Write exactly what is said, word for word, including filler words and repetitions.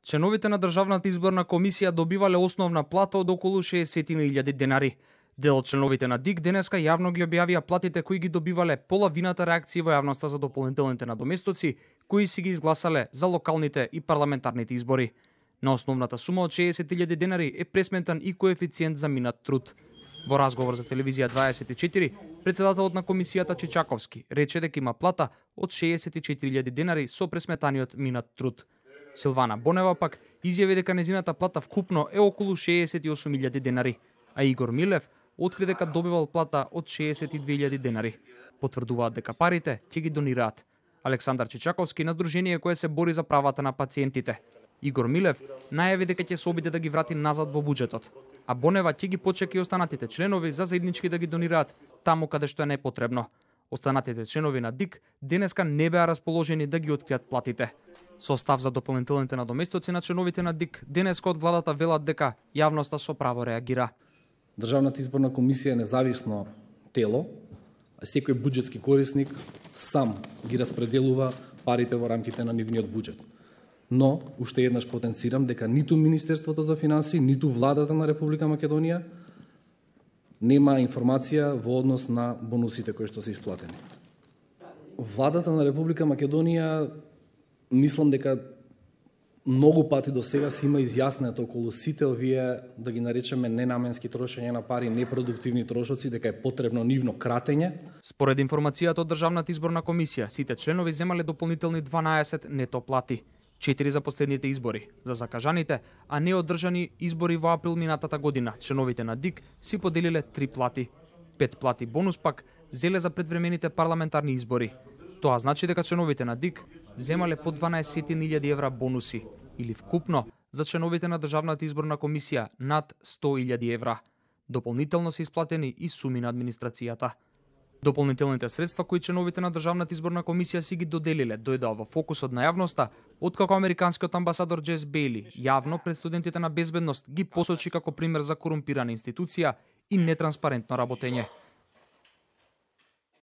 Членовите на Државната изборна комисија добивале основна плата од околу шеесет илјади денари. Дел од членовите на ДИК денеска јавно ги објавија платите кои ги добивале половината реакции во јавноста за дополнителните надоместоци кои си ги изгласале за локалните и парламентарните избори. На основната сума од шеесет илјади денари е пресметан и коефициент за минат труд. Во разговор за телевизија дваесет и четири, председателот на комисијата Чичаковски рече дека има плата од шеесет и четири илјади денари со пресметаниот минат труд. Силвана Бонева пак изјави дека незината плата вкупно е околу шеесет и осум илјади денари, а Игор Милев откри дека добивал плата од шеесет и две илјади денари. Потврдуваат дека парите ќе ги донираат. Александар Чичаковски на здружение кое се бори за правата на пациентите. Игор Милев најави дека ќе се обиде да ги врати назад во буџетот, а Бонева ќе ги почека и останатите членови за заеднички да ги донираат таму каде што е непотребно. Останатите членови на ДИК денеска не беа расположени да ги откријат платите. Состав за дополнителните надоместоци на членовите на ДИК денеска од владата велат дека јавноста со право реагира. Државната изборна комисија е независно тело, а секој буџетски корисник сам ги распределува парите во рамките на нивниот буџет. Но, уште еднаш потенцирам дека ниту Министерството за финансии, ниту владата на Република Македонија нема информација во однос на бонусите кои што се исплатени. Владата на Република Македонија мислам дека многу пати до сега си има изјаснет околу сите овие, да ги наречеме, ненаменски трошење на пари, непродуктивни трошоци, дека е потребно нивно кратење. Според информацијата од Државната изборна комисија, сите членови земале дополнителни дванаесет нето плати. четири за последните избори, за закажаните, а не одржани избори во април минатата година. Членовите на ДИК си поделиле три плати. Пет плати бонус пак зеле за предвремените парламентарни избори. Тоа значи дека членовите на ДИК земале по дванаесет илјади евра бонуси, или вкупно за членовите на Државната изборна комисија над сто илјади евра. Дополнително се исплатени и суми на администрацијата. Дополнителните средства кои членовите на Државната изборна комисија си ги доделиле дојдоа во фокусот на јавноста, откако американскиот амбасадор Джес Бейли јавно пред студентите на безбедност ги посочи како пример за корумпирана институција и нетранспарентно работење.